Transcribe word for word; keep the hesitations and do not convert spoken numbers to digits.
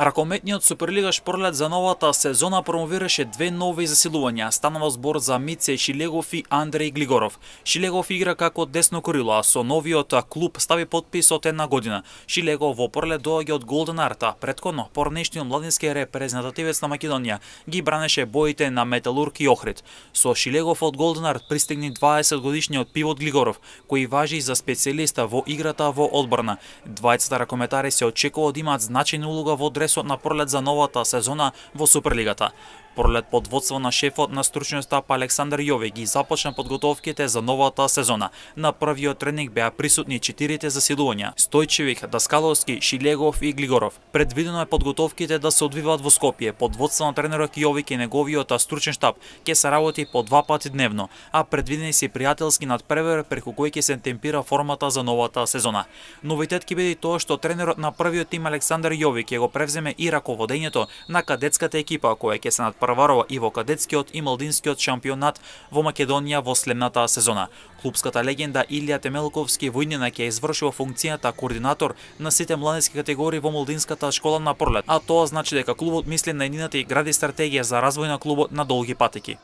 Ракометниот Суперлигаш Пролет за новата сезона промовираше две нови засилувања. Станува збор за Мице Шилегов и Андреј Глигоров. Шилегов игра како десно крило, а со новиот клуб стави потпис од една година. Шилегов во Пролет доаѓа од Голден Арта. Претходно, поранешниот младински репрезентативец на Македонија ги бранеше боите на Металург и Охрид. Со Шилегов од Голден Арт пристигни дваесет годишниот пивот Глигоров, кој важи за специјалиста во играта во одбрана. Двајцата ракометари се очекува да имаат значајна улога во дресот на Пролет за новата сезона во Суперлигата. Пролет под водство на шефот на стручниот штаб Александар Јовик ги започна подготовките за новата сезона. На првиот тренинг беа присутни четирите засилувања: Стојчевик, Даскаловски, Шилегов и Глигоров. Предвидено е подготовките да се одвиваат во Скопје. Под водство на тренерот Јовик и неговиот стручен штаб ќе се работи по два пати дневно, а предвидени се пријателски надпревар преку кој ќе се темпира формата за новата сезона. Новитет ќе биде тоа што тренерот на првиот тим Александар Јовик ќе го превземе и раководењето на кадетската екипа која ќе се надпреварува и во кадетскиот и младинскиот шампионат во Македонија во следната сезона. Клубската легенда Илија Темелковски војнина ќе извршува функцијата координатор на сите младински категории во младинската школа на Пролет, а тоа значи дека клубот мисли на едината и гради стратегија за развој на клубот на долги патеки.